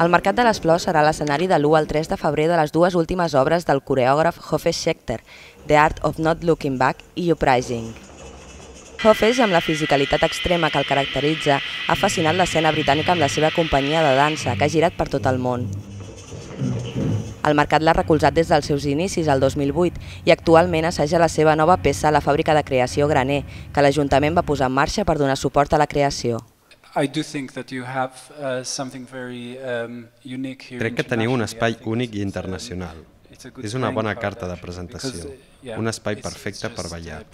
El Mercat de les Flors serà l'escenari de l'1 al 3 de febrer de les dues últimes obres del coreògraf Hofesh Schechter, The Art of Not Looking Back i Uprising. Hofesh, amb la fisicalitat extrema que el caracteritza, ha fascinat l'escena britànica amb la seva companyia de dansa, que ha girat per tot el món. El mercat l'ha recolzat des dels seus inicis, el 2008, i actualment assaja la seva nova peça a la fàbrica de creació Graner, que l'Ajuntament va posar en marxa per donar suport a la creació. Crec que teniu un espai únic i internacional. És una bona carta de presentació, un espai perfecte per ballar.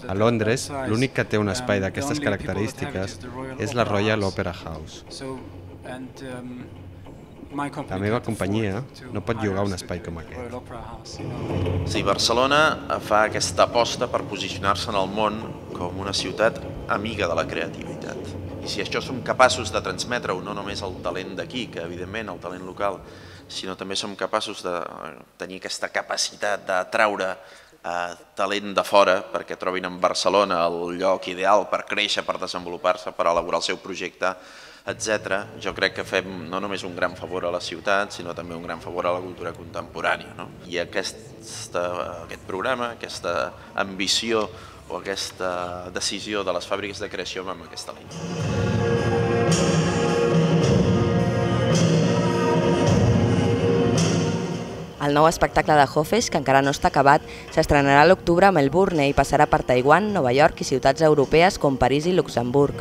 A Londres, l'únic que té un espai d'aquestes característiques és la Royal Opera House. La meva companyia no pot llogar un espai com aquest. Sí, Barcelona fa aquesta aposta per posicionar-se en el món com una ciutat amiga de la creativitat. I si això som capaços de transmetre-ho no només el talent d'aquí, que evidentment el talent local, sinó també som capaços de tenir aquesta capacitat d'atraure talent de fora perquè trobin en Barcelona el lloc ideal per créixer, per desenvolupar-se, per elaborar el seu projecte, etc. Jo crec que fem no només un gran favor a la ciutat, sinó també un gran favor a la cultura contemporània. I aquest programa, aquesta ambició o aquesta decisió de les fàbriques de creació va en aquesta línia. El nou espectacle de Hofesh, que encara no està acabat, s'estrenarà a l'octubre a Melbourne i passarà per Taiwan, Nova York i ciutats europees com París i Luxemburg.